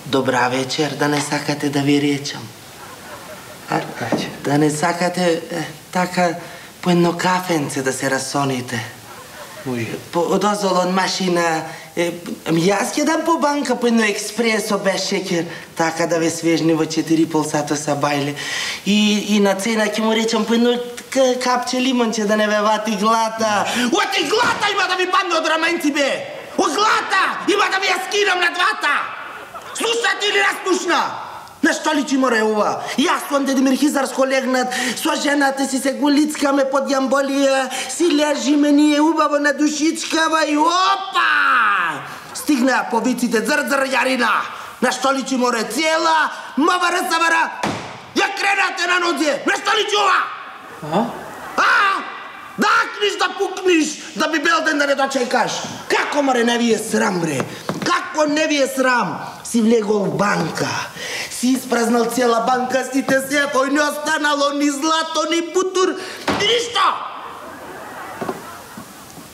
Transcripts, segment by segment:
Добра вечер, да не сакате да ви речам. Да не сакате така по едно кафенце да се расоните. Може. Дозвол од машина. Јас ќе дам по банка по едно експресо без шекер, така да ве свежни во 4,5 сата са бајле. И на цена ќе му речам по едно капче лимонче да не ве вати глата. Оти глата има да ви падне од раменци, бе! Од глата има да ви ја скинам на двата! Слушате или распушна? На што личи море ова? Јас сум Дедимир Хизарско легнат, со жената си се голицкаме под јамболија, си лежиме ние убаво на душичкава и опа! Стигна по виците зр-зр јарина. На што личи море? Цела мавара-савара ја кренате на нозе. На што личи ова? Да акниш, да пукниш, да би бел ден да не дочекаш. Како море не ви е срам, бре? Како не ви е срам? Си влегол в банка, си испразнал цела банка, сите сефој, не останало ни злато, ни путур, ни ништо!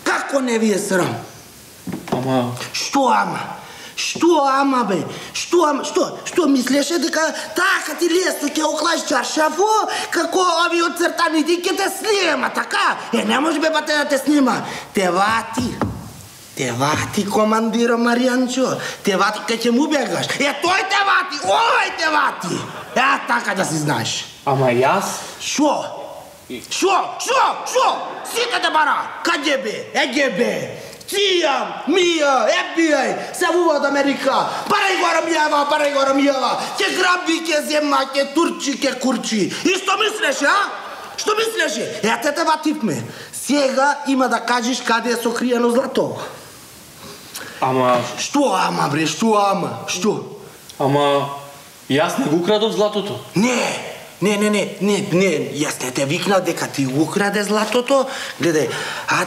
Како не ви е срам? Ама... Што ама? Што ама, бе? Што ама? Што мислеше дека така ти лесно ќе оклаш чаршафо, како ови оцртаните ќе те снима, така? Не може бе бате да те снима. Те вати, командиро Маријанчо. Те вати кај ќе му бегаш. Тој те вати, овај те вати. Така да си знаеш. Ама јас? Шо? Сите те бара. Каде бе? Еге бе. CIA, MIA, FBI, се вува од Америка. Барај го Рамијава. Ќе граби, ќе зема, ќе турчи, ќе курчи. И што мислеше, а? Што мислеше? Те вативме. Сега има да кажеш каде е сокриено злато. Ама... Што ама, бре, што ама? Што? Ама... Јас не го украдов златото. Не, јас не те викнал дека ти украде златото. Гледај,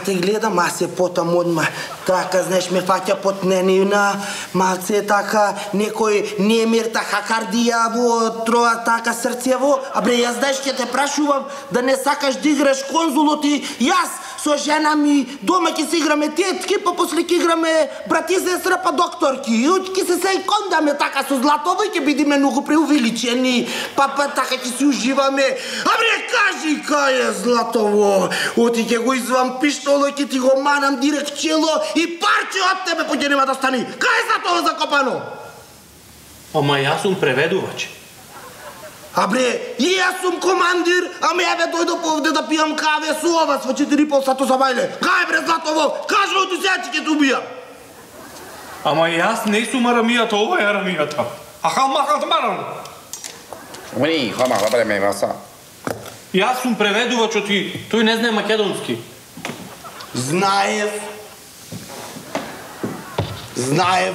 те гледам, аз се потам одма. Така, знаеш, ме фаќа потненина, малце така, некој немир, така кардија во троа, така срцево. Бре, јас знаеш, ќе те прашувам да не сакаш да играш конзулот и јас со жена ми дома ќе се играме тетки, па после ќе играме брати и сестра, па докторки. И ќе се кондаме така со златово и ќе бидиме многу преувеличени, па така ќе си уживаме. Бре, кажи кај е златово. Оти ќе го извам пиштоло, ќе ти го манам директ чело и парче од тебе поќе нема да стани. Кај е златово закопано? Ама јас сум преведувач. Бре, и јас сум командир, ама ја бе дојдов овде да пијам каве со вас во 4,5 сато за бајле. Кај бре златово? Кажи оти сега ќе те убија. Ама јас не сум Арамијата, ова е Арамијата. Ахалмахат маран. Уни, хама, бре ме васа. Јас сум преведувач, тој не знае македонски. Знаев,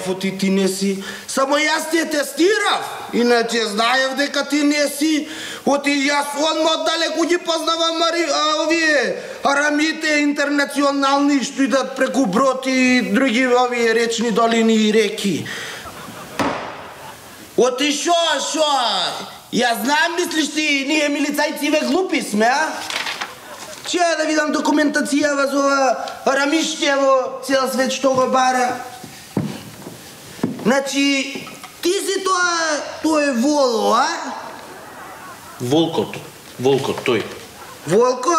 оти ти не си. Само јас те тестирав. Иначе знаев дека ти не си. Оти јас одма оддалеку ги познавам овие арамите интернационални што идат преку Брод и други овие речни долини и реки. Оти шо? Јас знам, мислиш ти, ние милицајци ве глупи сме, а? Че да видам документацијава за ова арамиштево, цел свет што го бара. Значи, ти си тоа е Воло, а? Волкот, тој. Волко?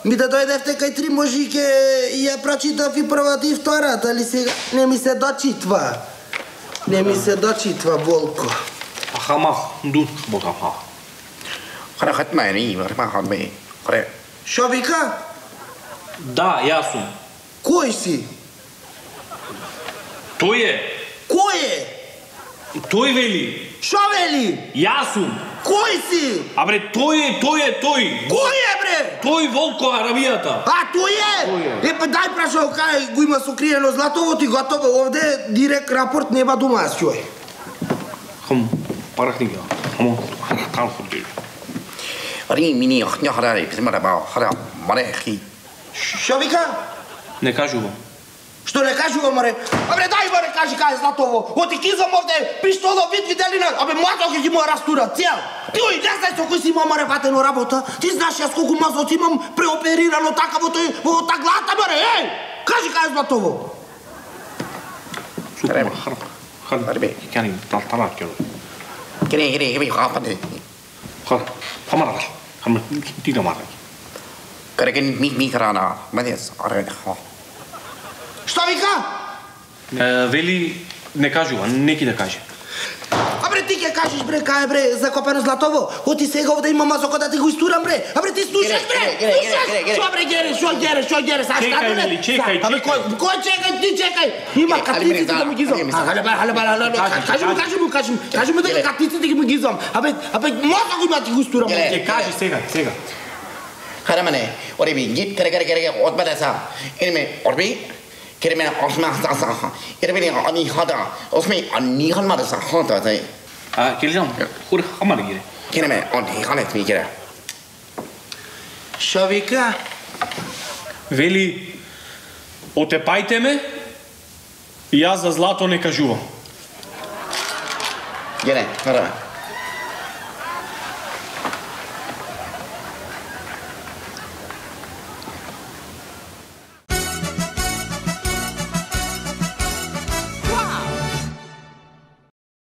Ми да дојдевте кај три можике и ја прочитав и првата и втората, али сега не ми се дочитва. Волко. Ахамах, дут, богамах. Хат мени, хат ме. Шо вика? Да, јас сум. Кој си? Тој е. Кој е? Тој вели. Шо вели? Јас сум. Кој си? Бре, тој е. Кој е, бре? Тој волко арамијата. А, тој е? Па дај прашао кај го има сокриено златово, ти готово овде директ рапорт неба дома аз ќој. Хам, парахнига. Хам, кал ходи. Ари мини ахња харари, примера ба хара марехи. Што вика? Не кажувам. Што не кажува, море? Абре, дај, море, кажи кај е златово. Оти кизам овде, пиштоло, вид виделина. Абе, млато ќе ги му растура, цел. Ти ој, не знаеш со кој си имам, море, ватено работа. Ти знаеш јас колку мазот имам преоперирано така во та глата, море, еј! Кажи кај е златово. Супер, харбе. Кјани, тала кјо. Кире, хапате. Хамара. Хам ти да мара. Кареген ми карана, мадес, аре ха. Што вика? Вели не кажува, неки да каже. Абре, ти ќе кажеш, бре, кај бре, закопено златово. Оти сега овде има мазоко да ти го истурам, бре. Абре, ти слушаш, бре. Слушаш? Што, бре, гереш, а Чекај, Вели, чекај. Абе, кој чекај, ти чекај. Има катиците да ми ги зам. Кажи му дека катиците ги ми ги зам. Абе, мозок има ти го истурам. Ќе кажи сега. Харамане, орби, гип кере, отбадаса. Име, орби, кереме осма саса. Ирбени ани хада. Осми ани халмадаса хата тай. Келжам, хур хамар гире. Кереме ани халет ми кере. Што вика? Вели, отепајте ме, и јас за злато не кажувам. Кере, хараме.